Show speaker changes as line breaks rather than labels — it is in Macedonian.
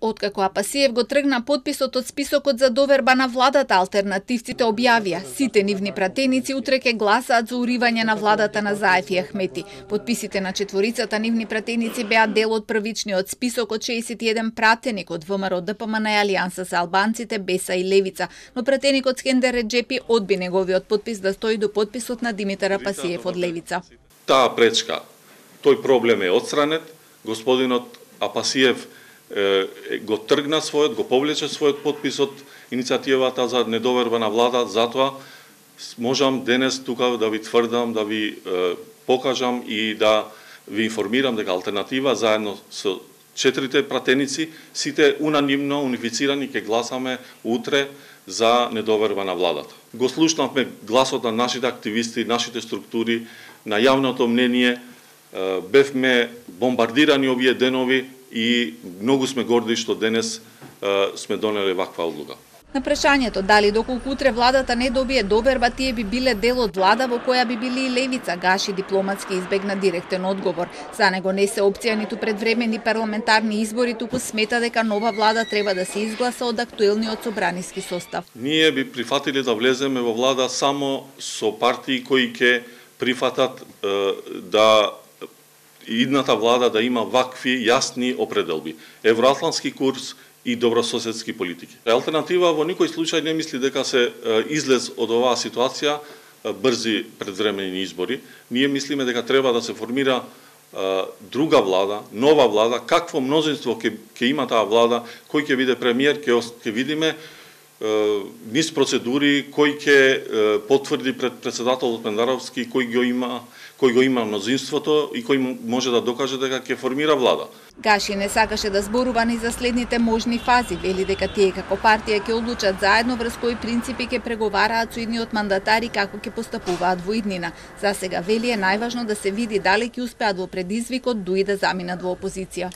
Откако Апасиев го тргна подписот од списокот за доверба на владата, алтернативците објавија сите нивни пратеници утре ќе гласаат за уривање на владата на Заев и Ахмети. Подписите на четворицата нивни пратеници беа дел од првичниот список од 61 пратеник од ВМРО, ДПМН и Алијанса за албанците, Беса и Левица, но пратеникот Скендер Реджепи одби неговиот подпис да стои до подписот на Димитар Апасиев од Левица.
Таа пречка, тој проблем е отстранет, господинот Апасиев го тргна го повлече својот подпис од иницијативата за недоверба на влада, затоа можам денес тука да ви тврдам, да ви покажам и да ви информирам дека алтернатива заедно со 4 пратеници, сите унанимно, унифицирани, ќе гласаме утре за недоверба на владата. Го слушнавме гласот на нашите активисти, нашите структури, на јавното мнение, бевме бомбардирани овие денови и многу сме горди што денес сме донеле ваква одлука.
На прашањето дали доколку утре владата не добие доверба, тие би биле дел од влада во која би били и Левица, Гаши дипломатски избегна директен одговор. За него не се опција ниту предвременни парламентарни избори, туку смета дека нова влада треба да се изгласа од актуелниот собраниски состав.
Ние би прифатиле да влеземе во влада само со партии кои ќе прифатат да идната влада да има вакви јасни определби. Евроатлантски курс и добрососедски политики. Алтернатива во никој случај не мисли дека се излез од оваа ситуација брзи предвремени избори. Ние мислиме дека треба да се формира друга влада, нова влада, какво мнозинство ќе има таа влада, кој ќе биде премиер, ќе видиме низ процедури, кој ќе потврди пред председателот Пендаровски, кој го има мнозинството и кој може да докаже дека ќе формира влада.
Гаши не сакаше да зборува ни за следните можни фази, вели дека тие како партија ќе одлучат заедно врз кои принципи ќе преговараат со идниот мандатари како ќе постапуваат во иднина. За сега вели е најважно да се види дали ќе успеат во предизвикот дуи да заминат во опозиција.